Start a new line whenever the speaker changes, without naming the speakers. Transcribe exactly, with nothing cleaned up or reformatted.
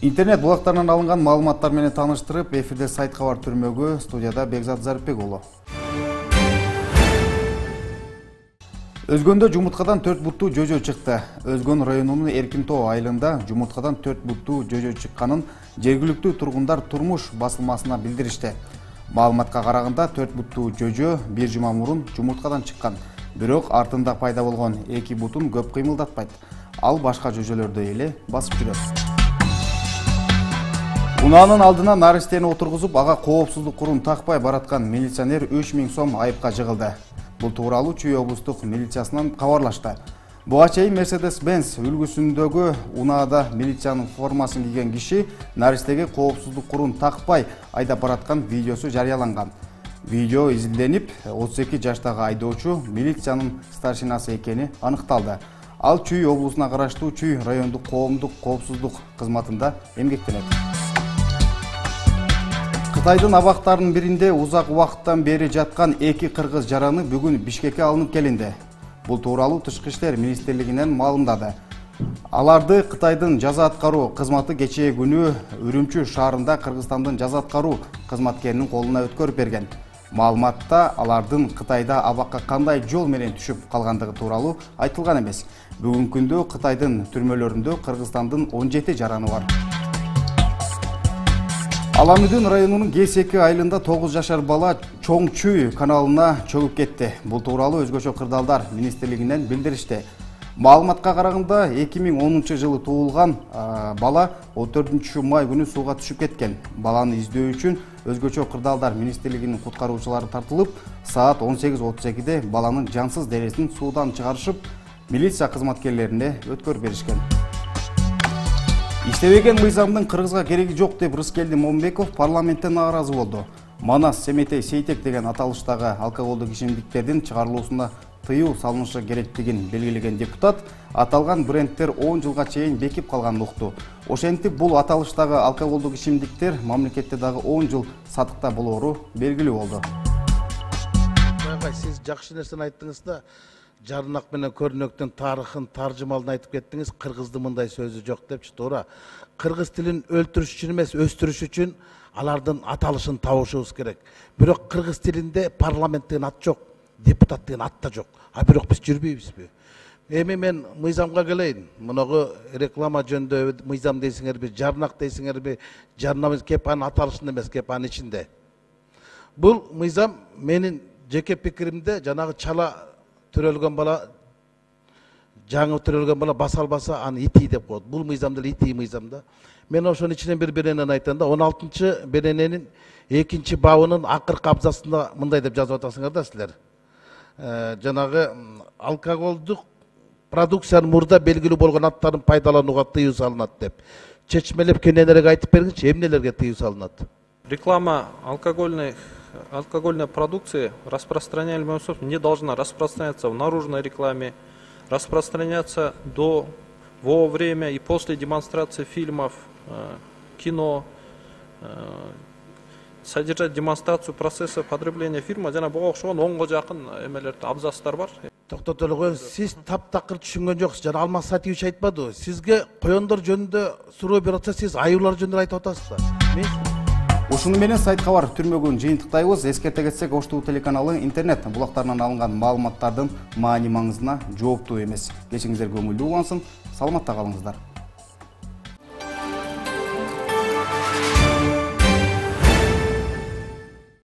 Интернет булактарынан алынган маалыматтар менен тааныштырып, эфирде сайт кабар түрмөгү, студияда Бекзат Зарипбек уулу. Өзгөндө жумурткадан төрт буттуу жөжө чыкты. Өзгөн районунун Эркинтоо айылында жумурткадан төрт буттуу жөжө чыкканын жергиликтүү тургундар турмуш басылмасына билдиришти. Маалыматка караганда төрт буттуу жөжө бир жума мурун жумурткадан чыккан. Бирок артында пайда болгон эки бутун көп кыймылдатпайт. Ал башка жөжөлөрдү эле басып жүрөт. Унаанын алдына наристени отургузуп, ага коопсуздук курун такпай бараткан милиционер үч миң сом айыпка жыгылды. Бул тууралуу Чүй облустук милициясынан кабарлашты. Буга чейин Mercedes-Benz үлгүсүндөгү унаада милициянын формасын кийген киши наристеге коопсуздук курун такпай айдап бараткан видеосу жарыяланган. Видео изилденип, отуз эки жаштагы айдоочу милициянын старшинасы экени аныкталды. Ал Чүй облусуна караштуу Чүй райондук коомдук коопсуздук кызматында эмгектенет. Кытайдын абактарынын биринде узак убакыттан бери жаткан эки кыргыз жараны бүгүн Бишкекке алынып келинди. Бул тууралуу Тышкы иштер министрлигинен маалымдады. Аларды Кытайдын жаза аткаруу кызматы кечээ күнү Үрүмчү шаарында Кыргызстандын жаза аткаруу кызматкеринин колуна өткөрүп берген. Маалыматта алардын Кытайда абакка кандай жол менен түшүп калгандыгы тууралуу айтылган эмес. Бүгүнкү күндө Кытайдын түрмөлөрүндө Кыргызстандын он жети жараны бар. Аламүдүн районунун Гесеки айылында тогуз жашар бала Чоң Чүй каналына чөгүп кетти. Бул тууралуу Өзгөчө кырдаалдар министрлигинен билдиришти. Маалыматка караганда эки миң онунчу жылы туулган бала он төртүнчү май күнү сууга түшүп кеткен. Баланы издөө үчүн Өзгөчө кырдаалдар министрлигинин куткаруучулары тартылып, саат он сегиз отуз экиде баланын жансыз денесин суудан чыгарышып, милиция кызматкерлерине өткөрүп беришкен. Иштебеген мыйзамдын Кыргызга кереги жок деп Рыскелди Момбеков парламенттен нааразы болду. Манас Семетей Сейтек деген аталыштагы алкоголдук ичимдиктердин чыгарылуусуна тыюу салынышы керектигин белгилеген депутат аталган брендтер он жылга чейин бекип калганын укту. Ошентип бул аталыштагы алкоголдук ичимдиктер мамлекетте дагы он жыл сатыкта болоору белгилүү болду.
Сиз жакшы нерсени айттыңыз да, жарнак менен көрнөктүн тарыхын, таржымалын айтып кеттиңиз. Кыргыздын мындай сөзү жок депчи, туура. Кыргыз тилин өлтүрүш үчүн эмес, өстүрүш үчүн алардын аталышын табышыбыз керек. Бирок кыргыз тилинде парламент деген ат жок, депутат деген ат да жок. А бирок биз жүрбөйбүзбү? Эми мен мыйзамга келейин. Мунагы реклама жөнүндө мыйзам дейсиңерби, жарнак дейсиңерби, жарнамыз кеп анын аталышында эмес, кеп анын ичинде. Бул мыйзам менин жеке пикиримде жанагы чала төрөлгөн бала, жаңы төрөлгөн бала баса албаса аны ити деп коет. Бул мыйзам деле ити мыйзам да. Мен ошонун ичинен бир беренени айтам да, он алтынчы берененин экинчи бабынын акыркы абзацында мындай деп жазып атасыңар да силер. Жанагы алкоголдук продукциянын мурда белгилүү болгон аттарын пайдаланууга тыюу салынат деп. Чечмелеп кененерээк айтып бергинчи, эмнелерге тыюу салынат?
Реклама алкогольной алкогольной продукции распространяемая не должна распространяться в наружной рекламе, распространяться до, во время и после демонстрации фильмов, кино, содержать демонстрацию процесса потребления фильма. Жана буга окшогон онго жакын эмелерде абзацтар бар.
Токтотолго, сиз таптакыр түшүнгөн жоксуз. Жана Алмаз Сатиевич айтпады. Сизге коёндор жөнүндө суроо берип атса, сиз аюулар жөнүндө айтып атасыз да.
Ушуну менен сайт кабар түрмөгүн жыйынтыктайбыз. Эскерте кетсек, Ош ТВ телеканалы интернет булактарынан алынган маалыматтардын маани маңызына жооптуу эмес. Кечиңиздер көңүлдүү улансын, саламатта калыңыздар.